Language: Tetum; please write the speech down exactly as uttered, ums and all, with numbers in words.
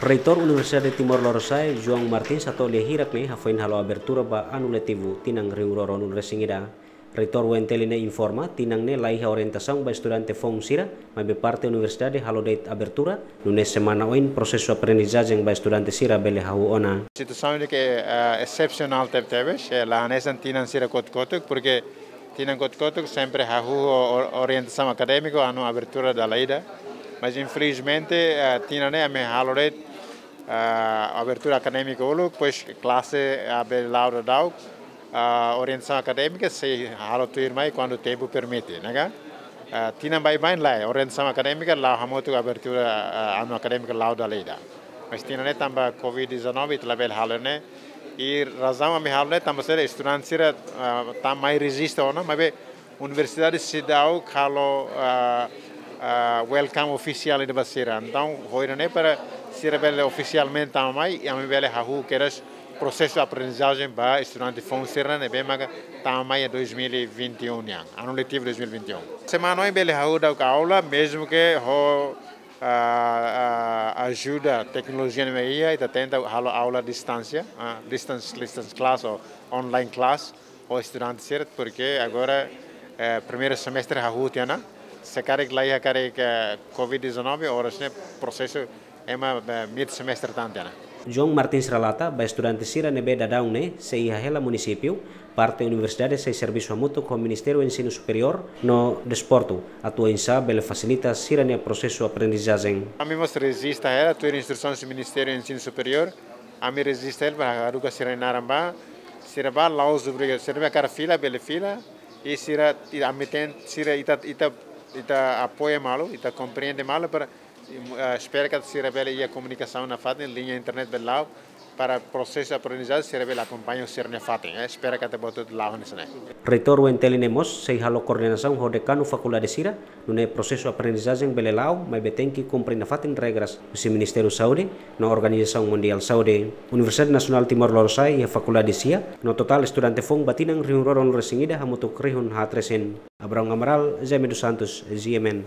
Reitór Universidade Timor Lorosa'e, João Martins, hato'o lia hirak ne'e hafoin halo abertura ba anu letivu tinan rihun rua ruanulu-resin-ida. Reitór U N T L ne'e informa, tinan ne'e la iha orientasaun ba estudante foun sira, maibé parte universidade halo de'it abertura, nune'e semana oin prosesu aprendizajen ba estudante sira bele hahú ona. Situasaun ne'e ke, eh, esepsionál tebetebes, eh, la hanesan tinan sira kotuk-kotuk, porke tinan kotuk-kotuk sempre hahú o-, o-, orientasaun akadémiku, anu abertura dala ida. Mas infelizmente, eh, tinan ne'e ami halo de'it, eh, abertura akadémika uluk, depois klase, eh, bele la'o daudaun, eh, orientasaun akadémika sei halo tuirmai kuandu tempu permite, ne'e ka? Eh, tinan baibain lae, orientasaun akadémika la'o hamutuk abertura, eh, anu akadémika la'o dala ida. Mas tinan ne'e tanba covid dezanove ita labele halo ne'e, i razaun ami halo ne'e tanba sira estudante sira, eh, tama mai rejista ona, maibé universidade seidauk halo, ah, ah, welcome ofisiál ida ba sira. Entaun, ohin ne'e para sira bele ofisialmente tama mai, i ami bele hahú kedas prosesu aprendizajen ba estudante foun sira ne'ebé maka tama mai iha dois mil e vinte e um nian, anu letivu dois mil e vinte e um. Semana oin bele hahú daudauk aula, mezmu ke ho, ah, ah, ajuda teknolojia ne'ebé iha, ita tenta halo aula distánsia, ah, distance, distance class ou online class, ho estudante sira, porke agora, eh, primeiru semestre hahú tiha ona, se karik la iha karik, eh, covid dezanove, oras ne'e prosesu ema, eh, mid semestre tan tiha ona. João Martins relata, ba estudante sira ne'ebé daudaun ne'e sei iha hela munisípiu, parte universidade sei servisu hamutuk ho Ministériu Ensinu Superiór no Desportu, atu oinsá bele fasilita sira-nia prosesu aprendizajen. Ami mós rejista hela, tuir instrusaun husi Ministériu Ensinu Superiór, ami rejista hela para haruka sira-nia naran ba, sira bá la'ós obriga, sira ne'ebé hakarak fila, bele fila, i sira, i ami ten, sira ita, ita, ita apoia malu, ita komprende malu, para, eh, espera katak sira bele iha komunikasaun nafatin, liña internet bele la'o, para prosesu aprendizajen sira bele akompaña sira-nia fatin, eh, espera katak buat hotu la'o hanesan ne'e. Reitór U N T L ne'e mós sei halo koordenasaun ho dekanu fakuldade sira, nune'e prosesu aprendizajen bele la'o, maibé tenke kumpre nafatin regras husi Ministériu Saúde no Organizasaun Mundiál Saúde. Universidade Nasionál Timor Lorosa'e iha fakuldade sia, no totál estudante foun ba tinan rihun rua ruanulu-resin-ida hamutuk rihun haat resin. Abraão Amaral, Jaime dos Santos, G M N.